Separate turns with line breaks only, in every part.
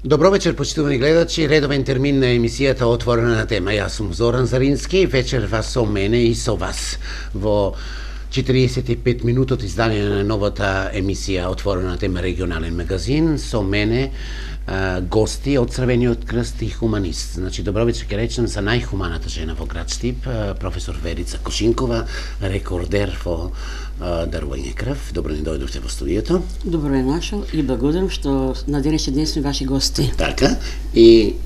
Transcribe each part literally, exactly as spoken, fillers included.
Добро вечер, почитувани гледачи. Редовен термин на емисијата Отворена тема. Јас сум Зоран Зарински, вечер вас со мене и со вас во четириесет и пет минутот издание на новата емисија Отворена тема регионален магазин. Со мене а, гости од Црвениот крст и хуманист. Значи, добро вечер ќе речем за најхуманата жена во град Штип, професор Верица Кошинкова, рекордер во дарување крв. Добро ни дојдовте во студиото.
Добро е нашол и благодарам што на денешен ден сме ваши гости.
Така, и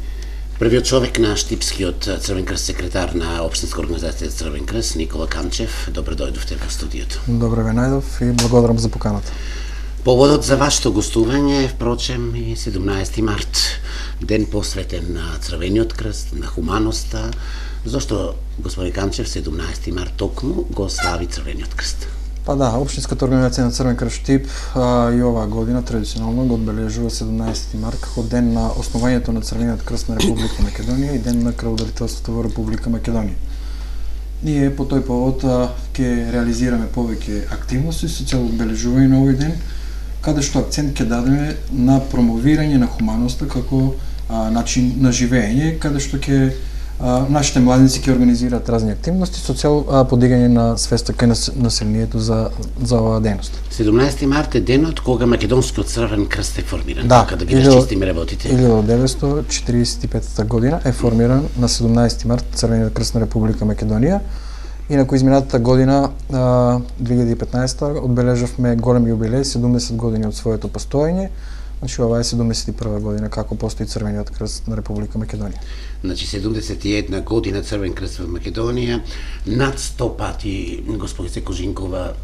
првиот човек на Штипскиот Црвен крст, секретар на Општинска организација Црвен крст, Никола Камчев. Добро дојдовте во студиото.
Добро ве најдов и благодарам за поканата.
Поводот за вашето гостување е, впрочем, и седумнаесети март, ден посветен на Црвениот крст, на хуманоста. Зошто, господин Камчев, седумнаесети март токму го слави Црвениот крст?
Па да, Општинската организација на Црвен крст Штип а, и оваа година традиционално го одбележува седумнаесети март како ден на основањето на Црвениот крст на Република Македонија и ден на крводарителството во Република Македонија. Ние по тој повод ќе реализираме повеќе активности со цел одбележување на овој ден, каде што акцент ќе дадеме на промовирање на хуманоста како а, начин на живење, каде што ќе а, нашите младинци ќе организираат разни активности со цел а, подигање на свеста кај населението за за оваа дејност.
седумнаесети март е денот кога Македонскиот Црвен крст е формиран.
Да,
така да ги расчистиме работите.
илјадесет деветстотини четириесет и петта година е формиран на седумнаесети март Црвениот крст на Република Македонија. Инаку изминатата година, две илјади и петнаесета, одбележавме голем јубилеј, седумдесет години од своето постоење. Значи, ова е седумдесет и прва година како постои Црвениот крст на Република Македонија.
Значи, седумдесет и една година Црвен крст во Македонија, над сто пати, господице Кожинкова,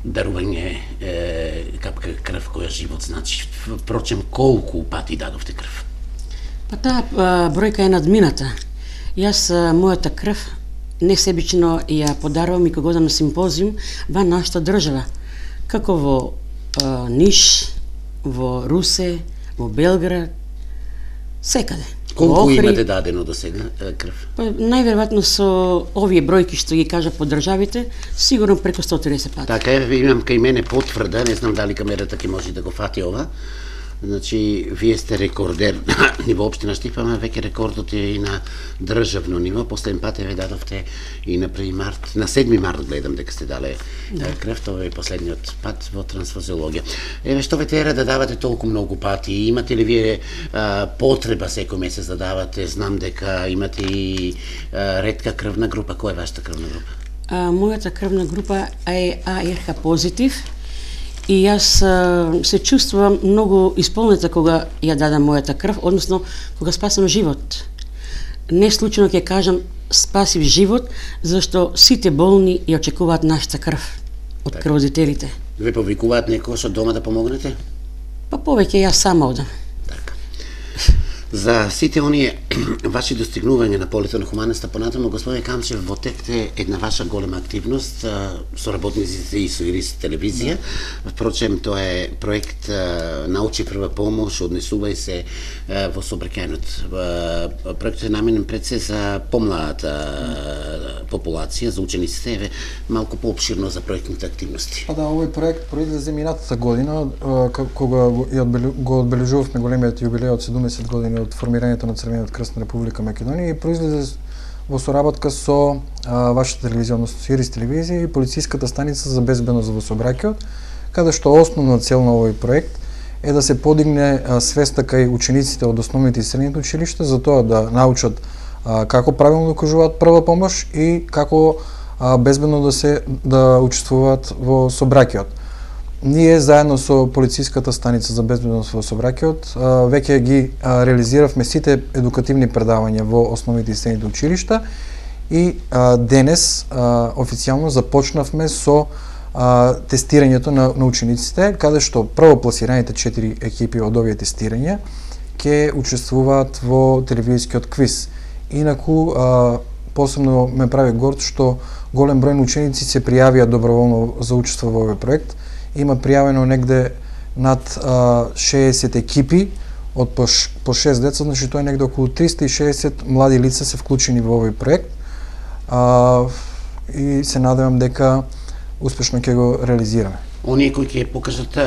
дарување е, капка крв која живот значи. Впрочем, колку пати дадовте крв?
Па таа бројка е надмината. Јас мојата крв несебично ја подарувам и кога одам на симпозиум во нашата држава, како во а, Ниш, во Русе, во Белград, секаде.
Колку имате дадено до сега крв?
Па, најверојатно со овие бројки што ги кажа по државите, сигурно преку сто и триесет пати.
Така е, имам кај мене потврда, не знам дали камерата ќе може да го фати ова. Значи, вие сте рекордер на ниво општина Штип, ама веќе рекордот е и на државно ниво. Последен пат ве дадовте и на први март, на седми март гледам дека сте дале да. крв, тоа е последниот пат во трансфузиологија. Еве, што ве тера да давате толку многу пати? Имате ли вие а, потреба секој месец да давате? Знам дека имате и а, ретка крвна група. Која е вашата крвна група?
А, мојата крвна група е А Р Х позитив. И јас а, се чувствувам многу исполнета кога ја дадам мојата крв, односно кога спасам живот. Не случајно ќе кажам спасив живот, зашто сите болни ја очекуваат нашата крв од
так.
крводителите.
Ве повикуваат некој од дома да помогнете?
Па повеќе јас сама одам.
Така. За сите оние ваши достигнувања на полето на хуманоста понатаму, господин Камчев, во текте една ваша голема активност а, со работниците и со Ирис телевизија. Впрочем, тоа е проект а, Научи прва помош, однесувај се а, во сообраќајот. Проектот е наменен пред се за помладата популација, за учениците, еве малку поопширно за проектните активности.
Па да, овој проект произлезе минатата година, кога го одбележувавме големиот јубилеј од седумдесет години од формирањето на Црвениот крст на Република Македонија и произлезе во соработка со а, вашата телевизија, Ирис телевизија и полициската станица за безбедност во сообраќајот, каде што основна цел на овој проект е да се подигне а, свеста кај учениците од основните и средните училишта за тоа да научат а, како правилно да кажуваат прва помош и како а, безбедно да се да учествуваат во сообраќајот. Ние заедно со полициската станица за безбедност во сообраќајот веќе ги а, реализиравме сите едукативни предавања во основните и средните училишта и а, денес а, официјално започнавме со а, тестирањето на, на учениците, каде што првопласираните четири екипи од овие тестирања ќе учествуваат во телевизискиот квиз. Инаку а, посебно ме прави горд што голем број на ученици се пријавија доброволно за учество во овој проект. Има пријавено негде над а, шеесет екипи од по, по шест деца, значи тоа е негде околу триста и шеесет млади лица се вклучени во овој проект. А, и се надевам дека успешно ќе го реализираме.
Оние кои ќе покажат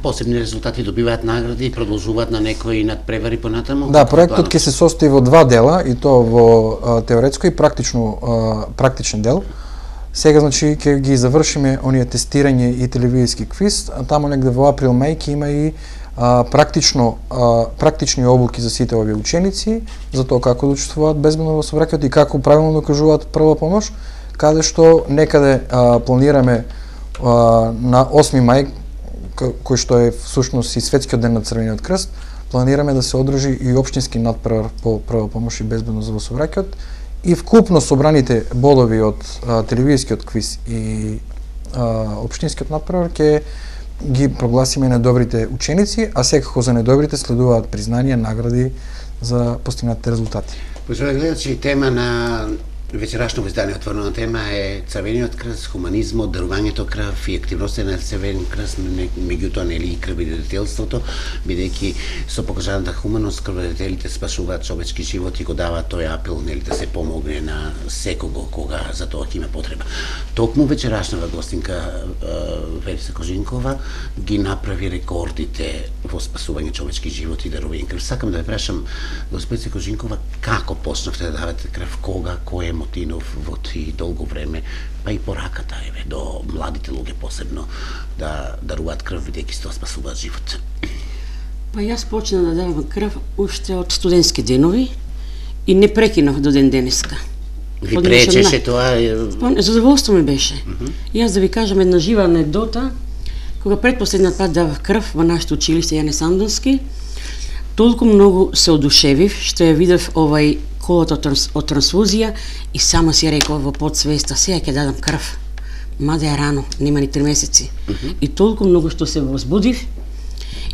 посебни резултати добиваат награди и продолжуваат на некои надпревари понатаму?
Да, проектот ќе се состои во два дела, и то во а, теоретско и практично а, практичен дел. Сега, значи, ќе ги завршиме оние тестирање и телевизиски квиз, а таму негде во април-мај ќе има и а, практично а, практични обуки за сите овие ученици, за тоа како да учествуваат безбедно во сообраќајот и како правилно да кажуваат прва помош, каде што некаде а, планираме а, на осми мај, кој што е всушност и светскиот ден на Црвениот крст, планираме да се одржи и општински надпревар по прва помош и безбедност во сообраќајот, и вкупно собраните бодови од а, телевизискиот квиз и а, општинскиот надпревар ќе ги прогласиме на добрите ученици, а секако за недобрите следуваат признанија, награди за постигнатите резултати.
Почуваме гледачи, тема на вечерашното издание отворена тема е Црвениот крст, хуманизмот, дарувањето крв и активноста на Црвен крст, меѓутоа нели и крводадителството, бидејќи со покажаната хуманост крводадителите спасуваат човечки живот и го даваат тој апел нели да се помогне на секого кога за тоа ќе има потреба. Токму вечерашната гостинка Верица Кожинкова ги направи рекордите во спасување човечки живот и дарување крв. Сакам да ве прашам, госпожица Кожинкова, како почнавте да давате крв, кога, кој е мотивов во ти долго време, па и пораката еве до младите луѓе посебно да даруваат крв бидејќи тоа спасуваат живот?
Па јас почнав да давам крв уште од студентски денови и не прекинав до ден денеска.
Ви пречеше тоа?
Па, задоволство ми беше. Uh -huh. Јас да ви кажам една жива анекдота, кога предпоследниот пат давав крв во нашето училиште Јане Сандонски, толку многу се одушевив што ја видев овај колото од трансфузија и само си реков во подсвеста, сега ќе дадам крв. Мада е рано, нема ни три месеци. Uh -huh. И толку многу што се возбудив,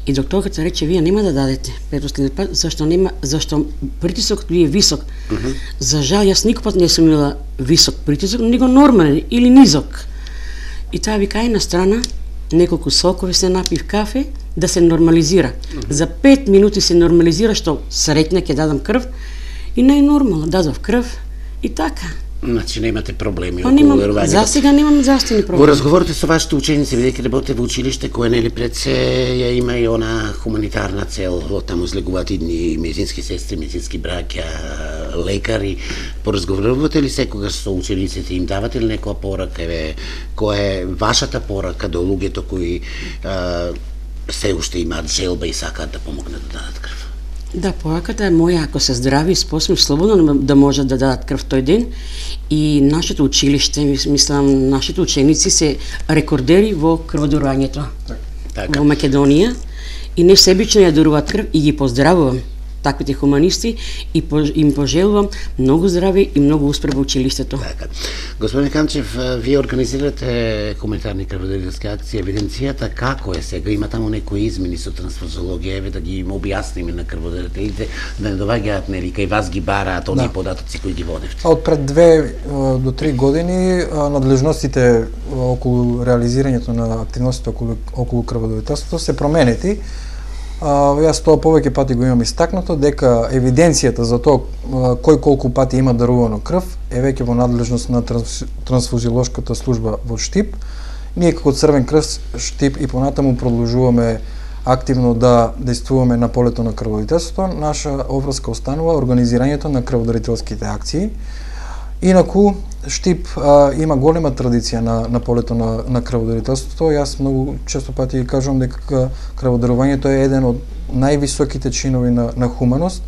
и докторката рече, вие нема да дадете предпоследниот пат, зашто нема, зашто притисокот ви е висок. Uh -huh. За жал, јас никогаш не сум имала висок притисок, него нормален или низок. И таа вика, ај на страна, неколку сокови се напив, кафе, да се нормализира. Uh -huh. За пет минути се нормализира, што среќна ќе дадам крв, и најнормално дадов крв и така.
Значи немате проблеми
Па,
околу
немам,
дарувањето.
за сега немам здравствени проблеми.
Во разговорите со вашите ученици, бидејќи работите во училиште, кое нели пред се ја има и она хуманитарна цел, од таму излегуваат идни медицински сестри, медицински браќа, лекари. Поразговарувате ли секогаш со учениците, им давате ли некоја порака, еве, која е вашата порака до луѓето кои а, се уште имаат желба и сакаат да помогнат да дадат крв?
Да, пораката е моја, ако се здрави и способни, слободно да можат да дадат крв тој ден. И нашето училиште, мислам, нашите ученици се рекордери во крводарувањето
така.
Во Македонија и не себично ја даруваат крв и ги поздравувам таквите хуманисти и им пожелувам многу здраве и многу успех во училиштето.
Така. Господин Канчев, вие организирате хуманитарни крводарителски акции, евиденцијата како е сега? Има таму некои измени со трансфузиологија, еве да ги им објасниме на крводарителите, да не доваѓаат нели кај вас ги бараат оние да. податоци кои ги водевте.
Од пред две до три години надлежностите околу реализирањето на активностите околу околу крводарителството се променети. Uh, јас тоа повеќе пати го имам истакнато, дека евиденцијата за тоа uh, кој колку пати има дарувано крв е веќе во надлежност на транс, трансфузиолошката служба во Штип. Ние како Црвен крст Штип и понатаму продолжуваме активно да действуваме на полето на крводарителството. Наша обврска останува организирањето на крводарителските акции. Инаку, Штип а, има голема традиција на, на полето на, на крводарителството. Јас многу често пати кажувам дека крводарувањето е еден од највисоките чинови на, на хуманост.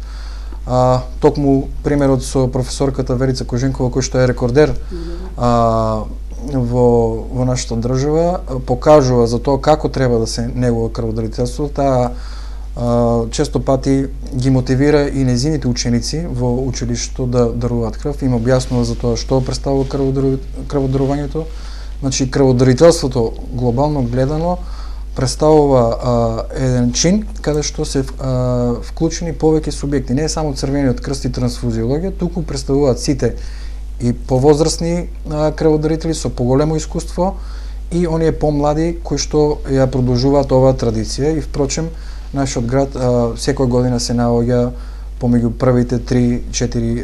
А, токму примерот со професорката Верица Кожинкова, кој што е рекордер а, во, во нашата држава, покажува за тоа како треба да се негува крводарителството. Таа често пати ги мотивира и незините ученици во училиштето да даруваат крв, им објаснува за тоа што представува крводарувањето. Значи, крводарителството глобално гледано представува а, еден чин каде што се а, вклучени повеќе субјекти, не е само Црвениот крст и трансфузиологија, туку представуваат сите и повозрастни а, крводарители со поголемо искуство и оние помлади кои што ја продолжуваат оваа традиција. И впрочем, нашиот град а, секоја година се наоѓа помеѓу првите три-четири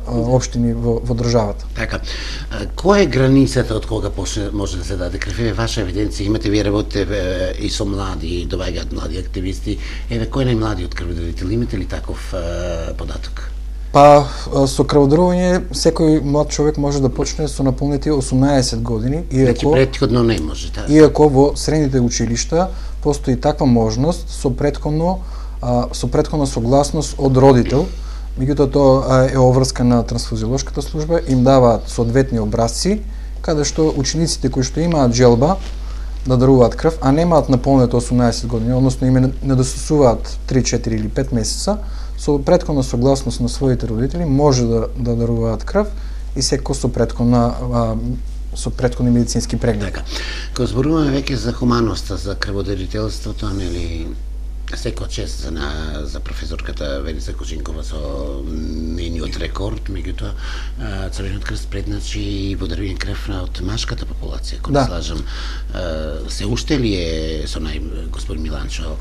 општини во, во државата.
Така. А, која е границата од кога почне може да се даде крв? Еве ваша евиденција, имате вие работите и со млади, доаѓаат млади активисти. Еве кој е најмладиот крводарител? Имате ли таков а, податок?
Па со крводарување секој млад човек може да почне со наполнети осумнаесет години, иако
Значи претходно не може, да.
Иако во средните училишта постои таква можност со претходно а, со претходна согласност од родител, меѓутоа тоа е обврска на трансфузиолошката служба, им даваат соодветни образци каде што учениците кои што имаат желба да даруваат крв, а немаат наполнето осумнаесет години, односно им недостасуваат три-четири или пет месеца, со претходна согласност на своите родители може да, да даруваат крв и секој со претходна а, со претходни медицински прегледи.
Така. Кога зборуваме веќе за хуманоста, за крводарителството, нели секој чест за, на, за професорката Веница Кожинкова со нениот рекорд, меѓутоа Црвениот крст предначи и подарување крв од машката популација, кога
да.
слажам. Се уште ли е со нај господин Миланчо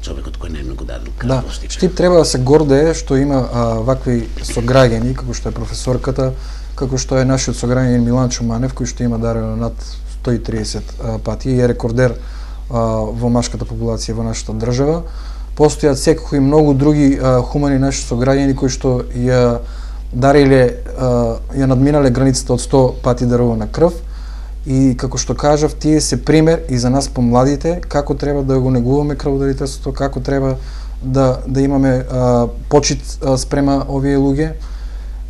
човекот кој најмногу дадил крв?
Да, Штип треба да се гордее што има а, вакви сограѓани, како што е професорката, како што е нашиот сограѓанин Миланчо Манев, кој што има дарено над сто и триесет а, пати и е рекордер а, во машката популација во нашата држава. Постојат секои многу други а, хумани наши сограѓани кои што ја дариле, а, ја надминале границата од сто пати дарувана крв. И како што кажав, тие се пример и за нас помладите како треба да го негуваме крводарителството, како треба да да имаме а, почит а, спрема овие луѓе.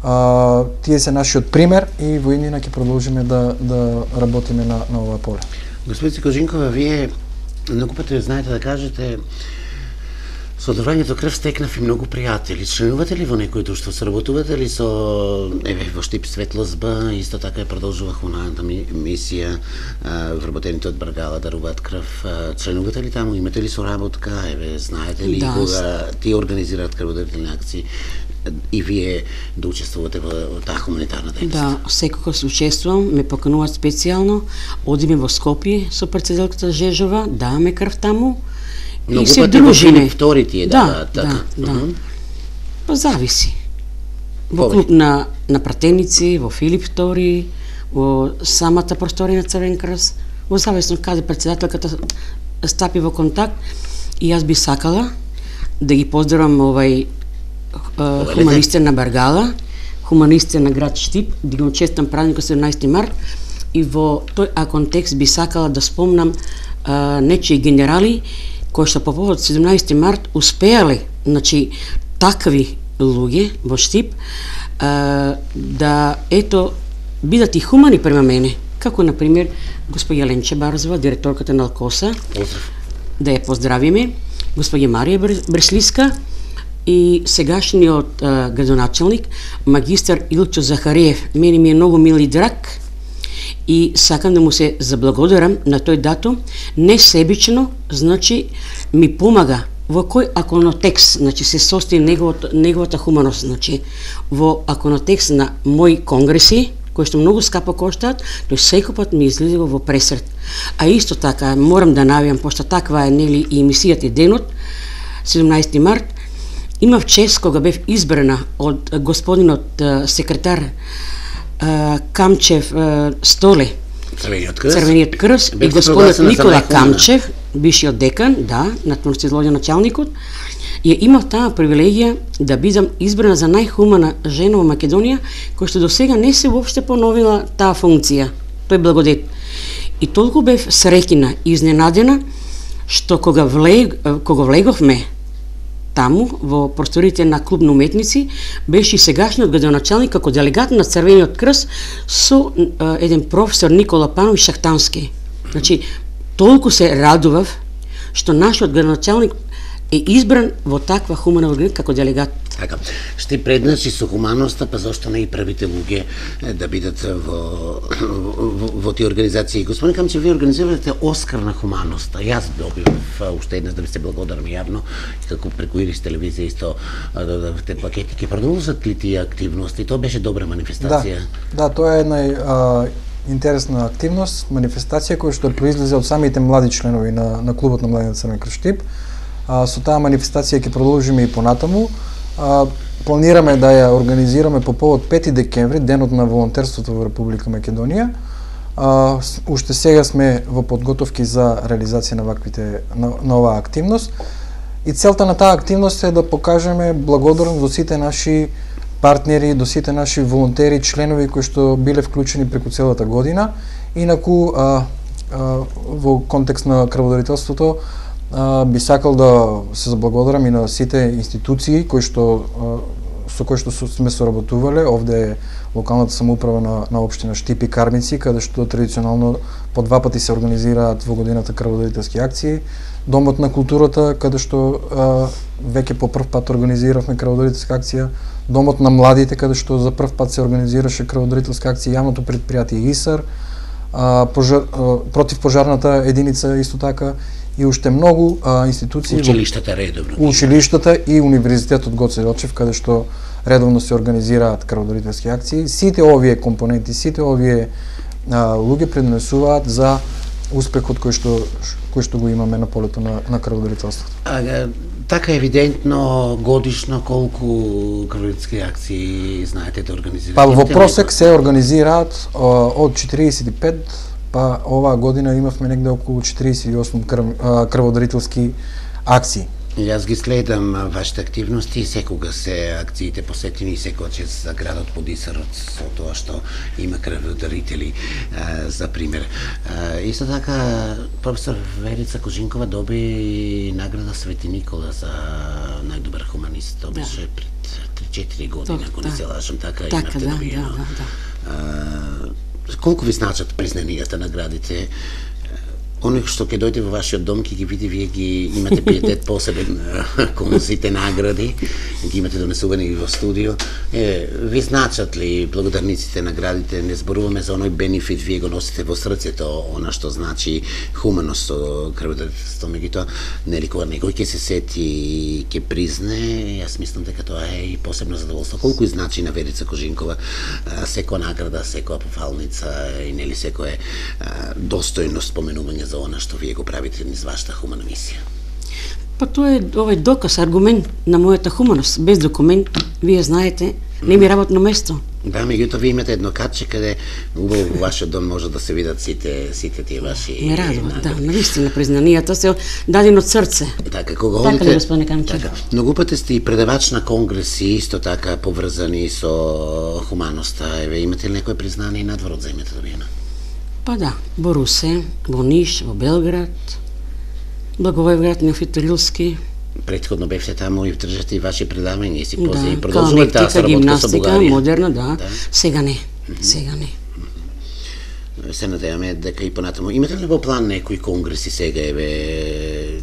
А, тие се нашиот пример и во иднина ќе продолжиме да да работиме на на ова поле.
Господица Кожинкова, вие многу пати знаете да кажете со дарувањето крв стекнав и многу пријатели. Членувате ли во некој друштво? Соработувате ли со еве во Штип Светлост Б, исто така е продолжува хуманата мисија, вработените од Баргала даруваат крв. Членувате ли таму? Имате ли соработка? Еве знаете ли
да,
кога тие организираат крводарителни акции и вие да учествувате во, во таа хуманитарна дејност?
Да, секогаш учествувам, ме покануваат специјално, одиме во Скопје со председателката Жежова, даваме крв таму.
Многу
и се
пати
дружиме.
Во втори тие
да,
даваат, така.
Да, да.
Uh -huh.
Па зависи. Во
Повеќе.
клуб на на пратеници, во Филип втори, во самата просторија на Црвен крст, во зависно каде председателката стапи во контакт, и јас би сакала да ги поздравам овај uh, хуманистите на Баргала, хуманистите на град Штип, да ги честам празникот седумнаесети март, и во тој а контекст би сакала да спомнам uh, нечии генерали кои што по повод седумнаесети март успеале, значи такви луѓе во Штип а, да ето бидат и хумани према мене, како на пример господја Ленче Барзова, директорката на Алкоса,
Поздрав.
да ја поздравиме, господја Марија Бреслиска и сегашниот а, градоначалник магистар Илчо Захариев. Мене ми е многу мил и драг и сакам да му се заблагодарам на тој датум, не себично, значи ми помага во кој аконотекст, значи се состои неговата, неговата хуманост, значи во аконотекст на мои конгреси, кои што многу скапо коштаат, тој секој пат ми излизува во пресрет. А исто така морам да навијам, пошто таква е нели и емисијата и денот, седумнаесети март, имав чест кога бев избрана од господинот секретар Камчев Столе,
Црвениот крст,
Црвениот крст и господинот Никола Камчев, бившиот декан, да, на творците началникот, ја имав таа привилегија да бидам избрана за најхумана жена во Македонија, која што до сега не се воопште поновила таа функција. Тој благодет. И толку бев среќна и изненадена што кога влег, кога влеговме таму во просториите на клуб на уметници, беше и сегашниот градоначалник како делегат на Црвениот крст со а, еден професор Никола Пановиќ Шахтански. Значи, толку се радував што нашиот градоначалник е избран во таква хумана организација како делегат.
Така, ще предначи со хуманоста, па зашто не и првите луѓе да бидат во, во, во тие организации. Господин Камчев, вие организирате Оскар на хуманоста. Јас добив уште еднаш да ви се благодарам јавно, како преку Ирис телевизија исто да дадовте пакети. Ке продолжат ли тие активности? Тоа беше добра манифестација.
Да, да, тоа е една а, интересна активност, манифестација која што произлезе од самите млади членови на, на клубот на млади на Црвен крст Штип. А, со таа манифестација ќе продолжиме и понатаму. А, планираме да ја организираме по повод пети декември, денот на волонтерството во Република Македонија. А, уште сега сме во подготовки за реализација на ваквите на, на оваа активност. И целта на таа активност е да покажеме благодарност до сите наши партнери, до сите наши волонтери, членови кои што биле вклучени преку целата година. Инаку а, а, во контекст на крводарителството а, би сакал да се заблагодарам и на сите институции кои што а, со кои што сме соработувале. Овде е локалната самоуправа на, на општина Штип и Кармици, каде што традиционално по два пати се организираат во годината крводарителски акции. Домот на културата, каде што а, веќе по прв пат организиравме крводарителска акција. Домот на младите, каде што за прв пат се организираше крводарителска акција. Јавното предпријатие ИСАР, а, пожар, а, противпожарната единица исто така и уште многу а, институции.
Училиштата редовно.
Училиштата и Универзитетот Гоце Делчев, каде што редовно се организираат крводарителски акции. Сите овие компоненти, сите овие а, луѓе преднесуваат за успехот кој што кој што го имаме на полето на, на крводарителството.
А, така евидентно годишно колку крводарителски акции знаете да организирате?
Па во просек се организираат а, од четириесет и пет, па оваа година имавме негде околу четириесет и осум крв, а, крводарителски акции.
Јас ги следам вашите активности, секогаш се акциите посетени, секогаш за градот Подисарот, со тоа што има крводарители, за пример. Исто така, професор Верица Кожинкова доби награда Свети Никола за најдобар хуманист. Тоа беше пред три-четири години, ако не се лажам, така имате добиено. Колку ви значат признанијата, наградите? Оној што ќе дојде во вашиот дом, ќе ги види, вие ги имате пиетет посебен кон сите награди, ги имате донесувани и во студио. Е, ви значат ли благодарниците наградите? Не зборуваме за оној бенефит, вие го носите во срцето, она што значи хуманост со крводарителство, меѓутоа, нели кога некој ќе се сети и ќе призне, јас мислам дека тоа е и посебно задоволство. Колку и значи на Верица Кожинкова секоја награда, секоја пофалница и нели секое достојно споменување за она што вие го правите низ вашата хумана мисија?
Па тоа е овој доказ, аргумент на мојата хуманост. Без документ, вие знаете, не ми работно место.
Да, меѓутоа вие имате едно катче каде убаво во вашиот дом може да се видат сите сите тие ваши.
Ме радува, да, навистина признанијата се дадени од срце.
Така, кога
така
одите,
господине Камчев.
Така, многу пати сте и предавач на конгреси, исто така поврзани со хуманоста. Еве, имате ли некое признание надвор од земјата добиено?
Па да, во Русе, во Ниш, во Белград, Благоевград, Неофит-Рилски.
Предходно бевте таму и држате и ваши предавања и си
Да,
пози и продолжувате таа соработка со
гимнастика,
Бугарија.
модерна, да.
Да.
Сега не, сега не.
Се надеваме дека и понатаму. Имате ли во план некои конгреси сега, еве,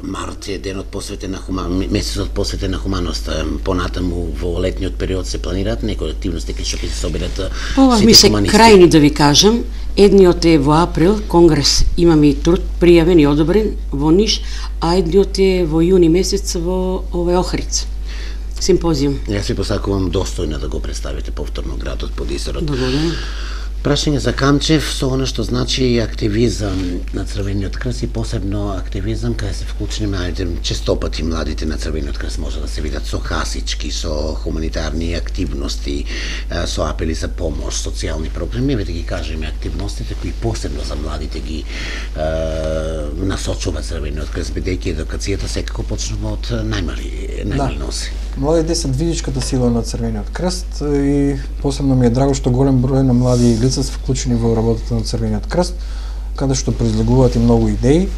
март е денот посветен на хуман, месецот посветен на хуманоста, понатаму во летниот период се планираат некои активности кои што ќе се соберат
Ова ми
сите
се
хуманисти?
крајни да ви кажам. Едниот е во април, конгрес имаме и труд пријавен и одобрен во Ниш, а едниот е во јуни месец во овој Охрид. Симпозиум.
Јас ви посакувам достојно да го представите повторно градот Подисарот.
Благодарам.
Прашање за Камчев со она што значи активизам на Црвениот крст и посебно активизам каде се вклучени младите, честопати младите на Црвениот крст може да се видат со хасички, со хуманитарни активности, со апели за помош, социјални програми, еве да ги кажеме активностите кои посебно за младите ги е, насочува Црвениот крст, бидејќи едукацијата секако почнува од најмали најмали
Да.
носи.
Младите се движичката сила на Црвениот крст и посебно ми е драго што голем број на млади лица се вклучени во работата на Црвениот крст, каде што произлегуваат и многу идеи.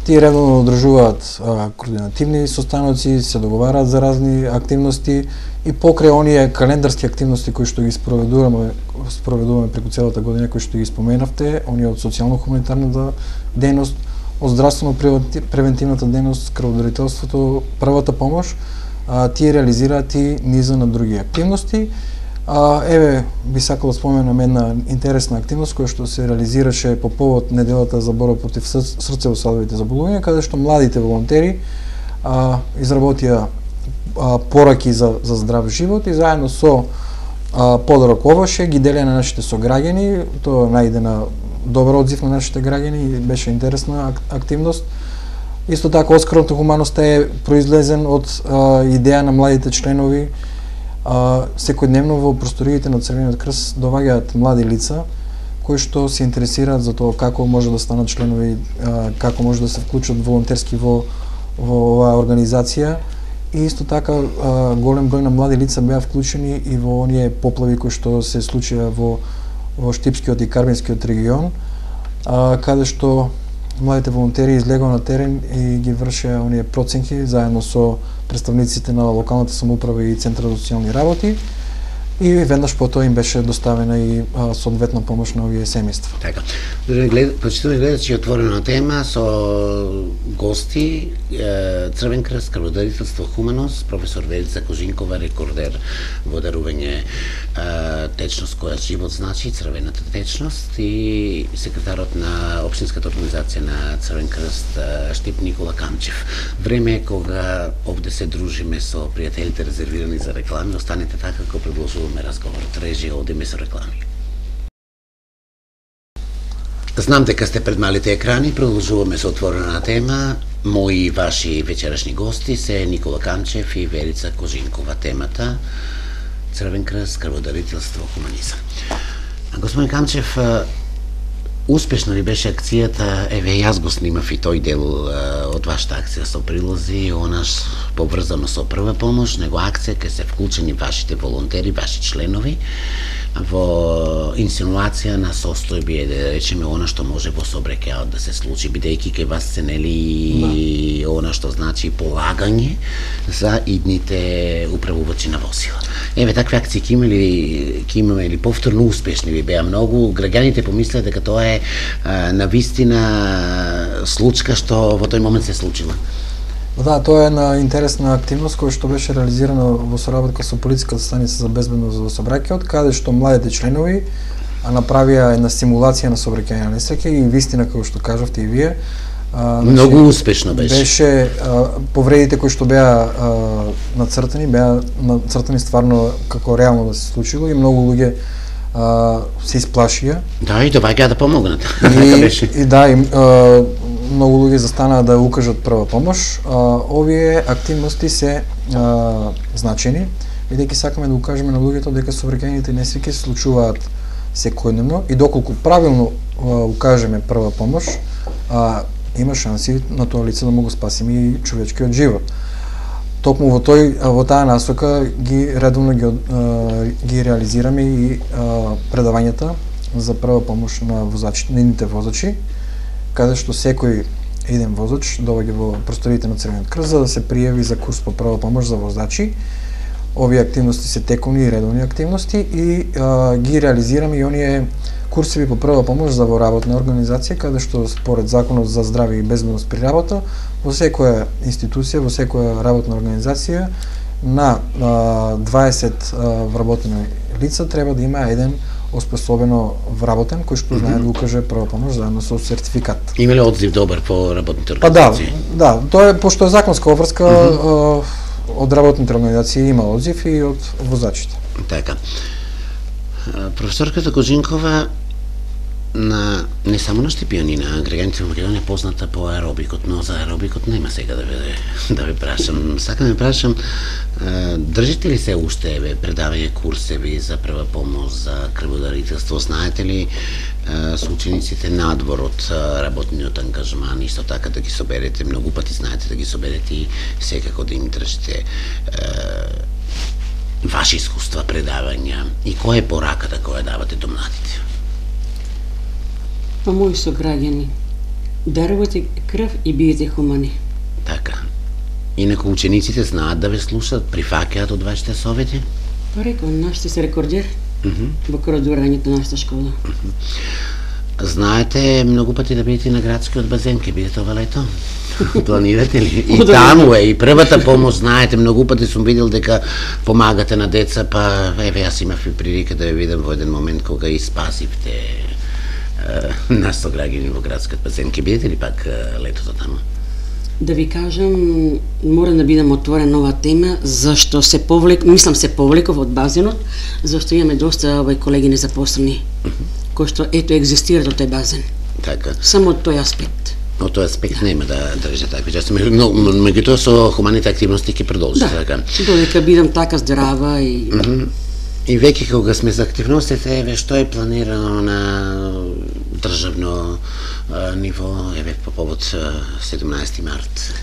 Тие редовно одржуваат а, координативни состаноци, се договараат за разни активности и покрај оние календарски активности кои што ги спроведуваме, спроведуваме преку целата година, кои што ги споменавте, оние од социјално-хуманитарната дејност, од здравствено-превентивната дејност, крводарителството, првата помош, а, тие реализираат и низа на други активности. А, еве, би сакал да споменам една интересна активност која што се реализираше по повод неделата за борба против срцево-садовите заболувања, каде што младите волонтери а, изработија а, пораки за, за здрав живот и заедно со а, подарок овоше ги делеа на нашите сограѓани. Тоа најде на добар одзив на нашите граѓани и беше интересна ак, активност. Исто така, Оскарот на хуманоста е произлезен од а, идеја на младите членови. А, секојдневно во просториите на Црвениот крст доваѓаат млади лица кои што се интересираат за тоа како може да станат членови, а, како може да се вклучат волонтерски во во оваа организација. И исто така а, голем број на млади лица беа вклучени и во оние поплави кои што се случија во во Штипскиот и Карбинскиот регион, а, каде што младите волонтери излегоа на терен и ги вршеа оние проценки заедно со представниците на локалната самоуправа и Центарот за социјални работи. И веднаш потоа им беше доставена и а, соодветна помош на овие семејства.
Така. Почитувани гледачи, отворена тема со гости, Црвен крст, крводарителство, хуманост, професор Верица Кожинкова, рекордер во дарување течност која живот значи, црвената течност, и секретарот на општинската организација на Црвен крст Штип Никола Камчев. Време е кога овде се дружиме со пријателите резервирани за реклами. Останете така како предложуваме разговорот. Режија, одиме со реклами. Знам дека сте пред малите екрани, продолжуваме со отворена тема. Мои и ваши вечерашни гости се Никола Камчев и Верица Кожинкова. Темата Црвен крст, крводарителство, хуманизам. Господин Камчев, успешно ли беше акцијата? Еве, јас го снимав и тој дел од вашата акција со прилози, онаш поврзано со прва помош, него акција ке се вклучени вашите волонтери, ваши членови, во инсинуација на состојби, да речеме, она што може во сообраќајот да се случи, бидејќи кај вас се нели она што значи полагање за идните управувачи на возила. Еве, такви акции ќе имаме, ќе имаме или повторно успешни ли беа многу? Граѓаните помислеа дека тоа е а, навистина случка што во тој момент се случила.
Да, тоа е една интересна активност која што беше реализирана во соработка со полициската станица за безбедност во сообраќајот, каде што младите членови направија една симулација на сообраќајна несреќа и вистина, како што кажавте и вие, а,
многу значи, успешно беше.
Беше а, повредите кои што беа а, нацртани, беа нацртани стварно како реално да се случило и многу луѓе а, се исплашија.
Да, и доваѓаа да помогнат.
И, и да, и, а, многу луѓе застанаа да укажат прва помош. А, овие активности се а, значени, бидејќи сакаме да укажеме на луѓето дека сообраќајните несреќи се случуваат секојдневно и доколку правилно а, укажеме прва помош, а, има шанси на тоа лице да му го спасиме и човечкиот живот. Токму во тој во таа насока ги редовно ги, а, ги реализираме и а, предавањата за прва помош на возачите, на идните возачи, каде што секој еден возач доаѓа во просториите на Црвениот крст за да се пријави за курс по прва помош за возачи. Овие активности се тековни и редовни активности и а, ги реализираме и оние курсеви по прва помош за во работна организација, каде што според Законот за здравје и безбедност при работа, во секоја институција, во секоја работна организација на а, дваесет а, вработени лица треба да има еден оспособено вработен кој што знае да укаже прва помош заедно со сертификат.
Има ли одзив добар по работните
Па да,
организации?
да, тоа е пошто е законска обврска, mm -hmm. од работните организации има одзив и од возачите.
Така. Професорката Кожинкова на не само на Штипјани, на граѓаните во Македонија позната по аеробикот, но за аеробикот нема сега да ве да ве прашам. Сакам да ве прашам, држите ли се уште еве предавање курсеви за прва помош, за крводарителство? Знаете ли со учениците надвор од работниот ангажман, исто така да ги соберете, многу пати знаете да ги соберете и секако да им држите ваши искуства, предавања, и која е пораката која давате до младите?
Па мои сограѓани, дарувате крв и биете хумани.
Така. Инаку учениците знаат да ве слушаат, прифаќаат од вашите совети?
Па реков, нашите се рекордер
Uh -huh.
во крводарувањето на нашата школа.
Uh -huh. Знаете многу пати да бидете на градскиот базен, ке бидете ова лето? Планирате ли? И таму е, и првата помош, знаете, многу пати сум видел дека помагате на деца, па еве јас имав и прилика да ве видам во еден момент кога и спасивте нас сограѓани во градскиот базен. Ке бидете ли пак летото таму?
Да ви кажам, морам да бидам отворен ова тема, зашто се повлек, мислам се повлеков од базенот, зашто имаме доста овој колеги незапослени, uh -huh. кои што ето екзистираат од тој базен.
Така.
Само од тој аспект.
Од тој аспект нема да држи такви части, но меѓутоа со хуманите активности ќе продолжи
да,
така.
Додека бидам така здрава и
mm -hmm. И веќе кога сме за активностите, еве што е планирано на државно а, ниво, еве по повод седумнаесети март.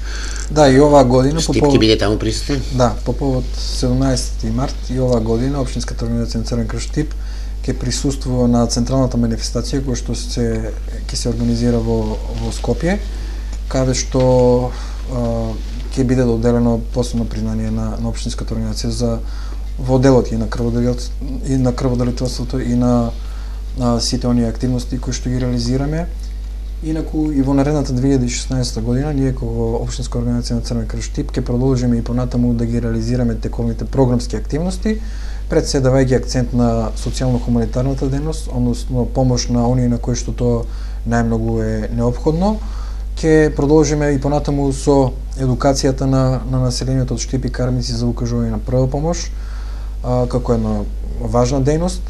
Да, и оваа година
Штип ќе биде таму присутен?
Да, по повод седумнаесети март и оваа година Општинската организација на Црвен крст Штип ќе присуствува на централната манифестација која што се ќе се организира во во Скопје, каде што ќе биде доделено посебно признание на на Општинската организација за во делот и на крводарителството и на крводарителството и на на сите оние активности кои што ги реализираме. Инаку и во наредната две илјади и шеснаесета година ние како Општинска организација на Црвен крст Штип ќе продолжиме и понатаму да ги реализираме тековните програмски активности, пред се давајќи акцент на социјално-хуманитарната дејност, односно помош на оние на кои што тоа најмногу е неопходно. Ќе продолжиме и понатаму со едукацијата на на населението од Штип и Кармици за укажување на прва помош, а, како една важна дејност,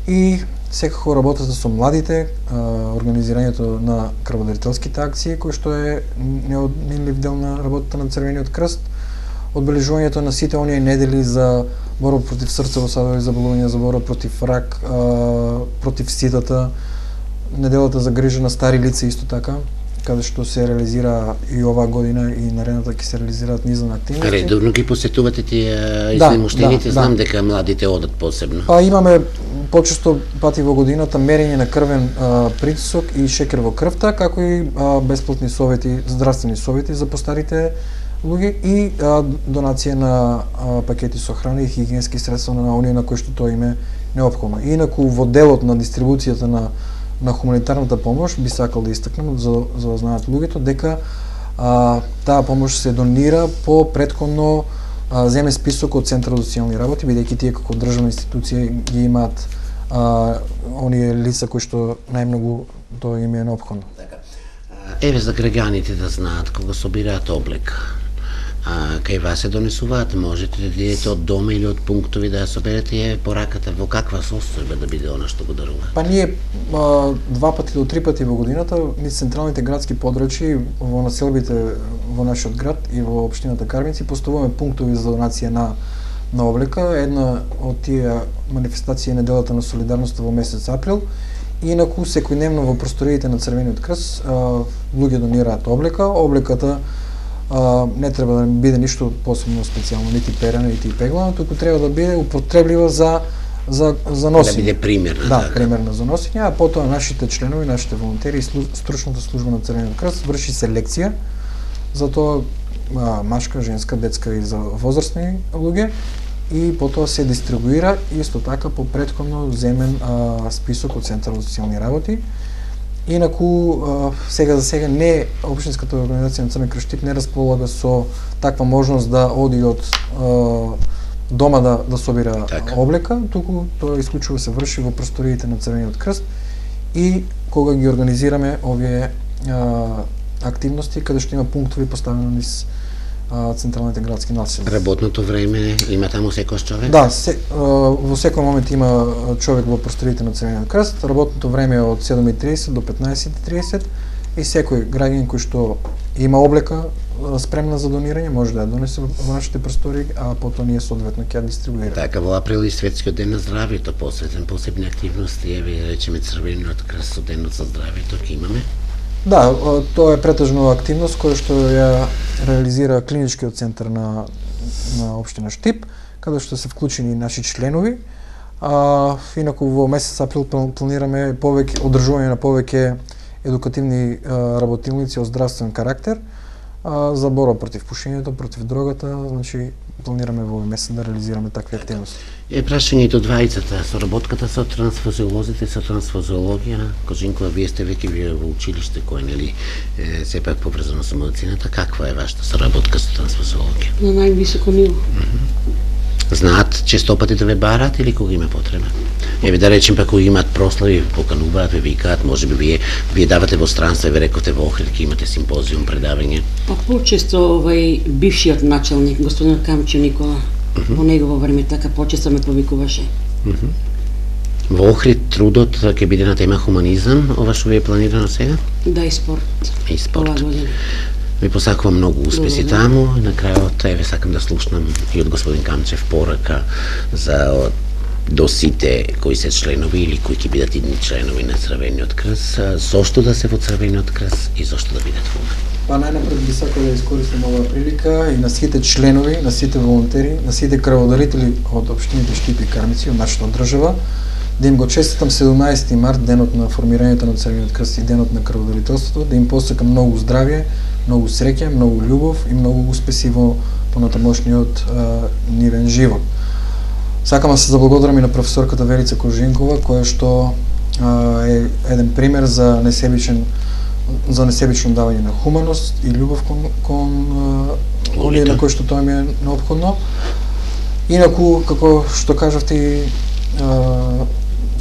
и секако работата со младите, а, организирањето на крводарителските акции, кој што е неодменлив дел на работата на Црвениот крст, одбележувањето на сите оние недели за борба против срцево-садови заболувања, за борба против рак, а, против сидата, неделата за грижа на стари лица исто така, каде што се реализира и оваа година и наредната ќе се реализираат низ на активности.
Редовно ги посетувате тие изнемоштените,
да,
знам
да.
дека младите одат посебно.
Па имаме почесто пати во годината мерење на крвен а, притисок и шекер во крвта, како и а, бесплатни совети, здравствени совети за постарите луѓе и а, донација на а, пакети со храна и хигиенски средства на оние на кои што тоа им е неопходно. Инаку во делот на дистрибуцијата на на хуманитарната помош би сакал да истакнам за за да знаат луѓето дека а, таа помош се донира по претходно а, земен список од Центарот за социјални работи, бидејќи тие како државна институција ги имаат а, оние лица кои што најмногу тоа им е неопходно.
Така. Еве за граѓаните да знаат кога собираат облека. А кај вас се донесуваат, можете да идете од дома или од пунктови да ја соберете и пораката во каква состојба да биде она што го дарува?
Па ние а, два пати до три пати во годината низ централните градски подрачи во населбите во нашиот град и во општината Кармици поставуваме пунктови за донација на на облека. Една од тие манифестации е неделата на солидарноста во месец април. Инаку секојдневно во просториите на Црвениот крст луѓе донираат облека. Облеката Uh, не треба да биде ништо посебно специјално, нити перена, нити пеглана, туку треба да биде употреблива за за за носење.
Да биде примерна.
Да,
така.
примерна за носење, а потоа нашите членови, нашите волонтери и стручната служба на Црвениот крст врши селекција за тоа а, машка, женска, детска и за возрастни луѓе и потоа се дистрибуира исто така по претходно земен а, список од Центарот за социјални работи. Инаку, сега за сега не Општинската организација на Црвен крст Штип не располага со таква можност да оди од дома да да собира
така.
облека, туку тоа исклучува се врши во просториите на Црвениот крст и кога ги организираме овие а, активности каде што има пунктови поставено низ а, централните градски населби.
Работното време има таму секој човек?
Да, се, а, во секој момент има човек во просториите на Црвениот крст. Работното време е од седум и триесет до петнаесет и триесет и секој граѓанин кој што има облека спремна за донирање може да ја донесе во нашите простори, а потоа ние соодветно ќе ја дистрибуираме.
Така, во април и Светскиот ден на здравјето посветен посебни активности, еве речеме Црвениот крст со денот за здравјето ќе имаме.
Да, тоа е претежно активност која што ја реализира клиничкиот центар на на општина Штип, каде што се вклучени наши членови. А инаку во месец април планираме повеќе одржување на повеќе едукативни а, работилници од здравствен карактер а, за борба против пушењето, против дрогата, значи планираме во овој месец да реализираме такви активности.
Е прашањето двајцата, соработката со трансфузиолозите, со трансфузиологија, Кожинкова, вие сте веќе вие во училиште кој нели е сепак поврзано со медицината, каква е вашата соработка со трансфузиологија?
На највисоко ниво.
Mm -hmm. Знаат честопати да ве барат или кога има потреба? Еве да речем пак кога имаат прослави, покануваат, ве викаат, можеби вие вие давате во странство, ве рековте во Охрид ќе имате симпозиум, предавање.
Па почесто овај бившиот началник, господин Камчо Никола, mm -hmm. во негово време така почесто ме повикуваше.
Mm -hmm. Во Охрид трудот ќе биде на тема хуманизам, ова што ви е планирано сега?
Да, и спорт.
И спорт.
Ова година.
Ви посакувам многу успеси
Благодарам.
таму и на крајот еве сакам да слушнам и од господин Камчев порака за до сите кои се членови или кои ќе бидат идни членови на Црвениот крст, зошто да се во Црвениот крст и зошто да бидат во.
Па најнапред би сакал да искористим оваа прилика и на сите членови, на сите волонтери, на сите крводарители од општините Штип и Кармици, од нашата држава, да им го честитам седумнаесети март, денот на формирањето на Црвениот крст и денот на крводарителството, да им посакам многу здравје, многу среќа, многу љубов и многу успеси во понатамошниот нивен живот. Сакам да се заблагодарам и на професорката Верица Кожинкова, која што а, е еден пример за несебичен за несебично давање на хуманост и љубов кон кон оние на кои што тоа ми е неопходно. Инаку, како што кажавте, и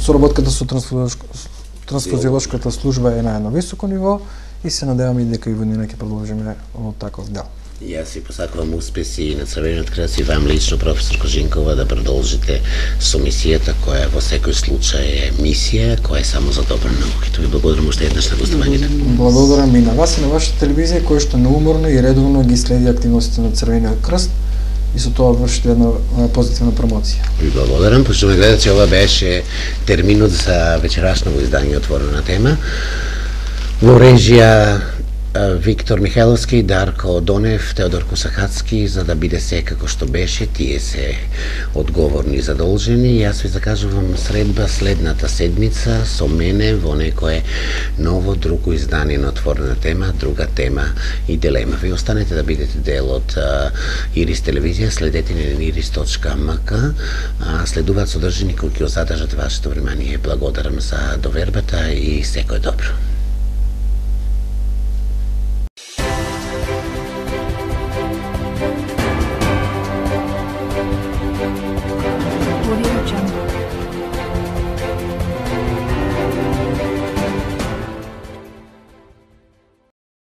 соработката со трансфузиолошката служба е на едно високо ниво и се надевам и дека и година ќе продолжиме во таков дел.
Јас ви посакувам успеси на Црвениот крст и вам лично, професор Кожинкова, да продолжите со мисијата која во секој случај е мисија, која е само за добро на науките. Ви благодарам уште еднаш на гостувањето.
Благодарам и на вас и на вашата телевизија која што неуморно и редовно ги следи активностите на Црвениот крст и со тоа вршите една позитивна промоција.
Ви благодарам, пошто ме гледате, ова беше терминот за вечерашното издање Отворена тема. Во режија Виктор Михайловски, Дарко Донев, Теодор Косахацки, за да биде се како што беше, тие се одговорни и задолжени. Јас ви закажувам средба следната седмица со мене во некое ново друго издание на Отворена тема, друга тема и дилема. Ви останете да бидете дел од Ирис телевизија, следете ни на ирис точка ем ка, следуваат содржини кои ќе задржат вашето внимание. Благодарам за довербата и секој добро.
Audio Jungle.